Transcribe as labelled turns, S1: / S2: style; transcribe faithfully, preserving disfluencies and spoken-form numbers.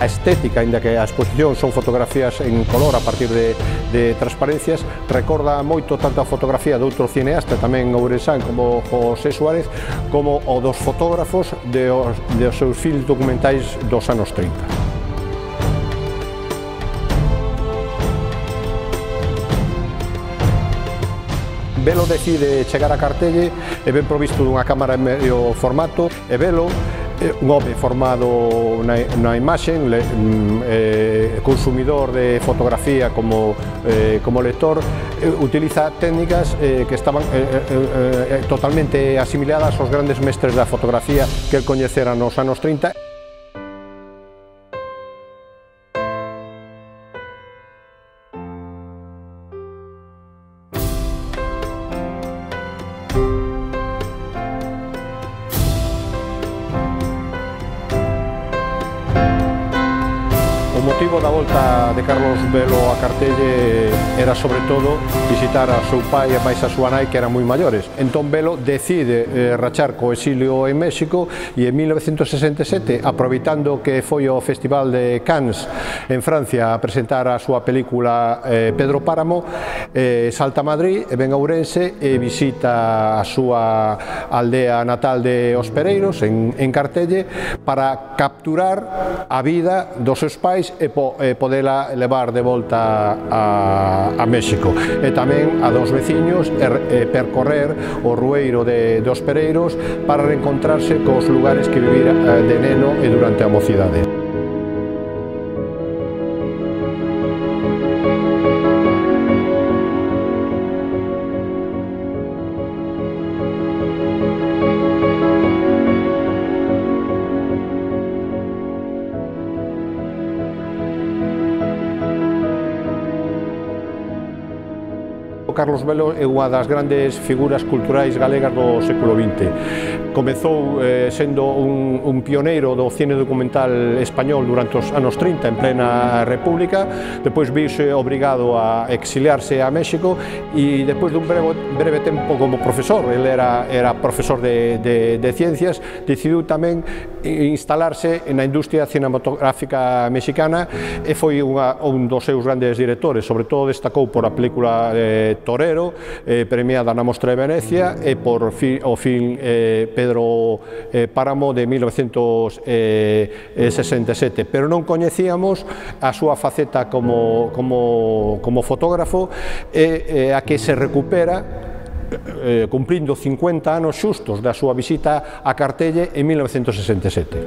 S1: A estética, ainda que a exposición son fotografías en color a partir de, de transparencias, recorda moito tanto a fotografía de outro cineasta tamén ourensán como José Suárez, como o dos fotógrafos de os, de os seus filmes documentais dos anos trinta. Velo decide chegar a Cartelle e ben provisto dunha cámara en medio formato, e velo un home formado na, na imaxe, le, eh, consumidor de fotografía como, eh, como lector, eh, utiliza técnicas eh, que estaban eh, eh, eh, totalmente asimiladas aos grandes mestres da fotografía que el coñecera nos anos trinta. O motivo da volta de Carlos Velo a Cartelle era sobre todo visitar a seu pai e máis a súa nai, que eran moi maiores. Entón Velo decide eh, rachar co exilio en México e en mil novecentos sesenta e sete, aproveitando que foi ao Festival de Cannes en Francia a presentar a súa película eh, Pedro Páramo, eh, salta a Madrid e ven a Ourense e visita a súa aldea natal de Os Pereiros en, en Cartelle para capturar a vida dos seus pais e, po, e podela levar de volta a, a México, e tamén a dos veciños e, e percorrer o rueiro de, dos Pereiros para reencontrarse cos lugares que vivira de neno e durante a mocidade. Carlos Velo é unha das grandes figuras culturais galegas do século vinte. Comezou eh, sendo un, un pioneiro do cine documental español durante os anos trinta, en plena República, depois viuse obrigado a exiliarse a México e depois dun breve, breve tempo como profesor, ele era, era profesor de, de, de ciencias, decidiu tamén instalarse na industria cinematográfica mexicana e foi unha, un dos seus grandes directores, sobre todo destacou por a película eh, Torero, eh, premiada na Mostra de Venecia, e por fi, o film eh, Pedro eh, Páramo de mil novecentos sesenta e sete, pero non coñecíamos a súa faceta como, como, como fotógrafo e eh, a que se recupera Eh, cumprindo cincuenta anos xustos da súa visita a Cartelle en mil novecentos sesenta e sete.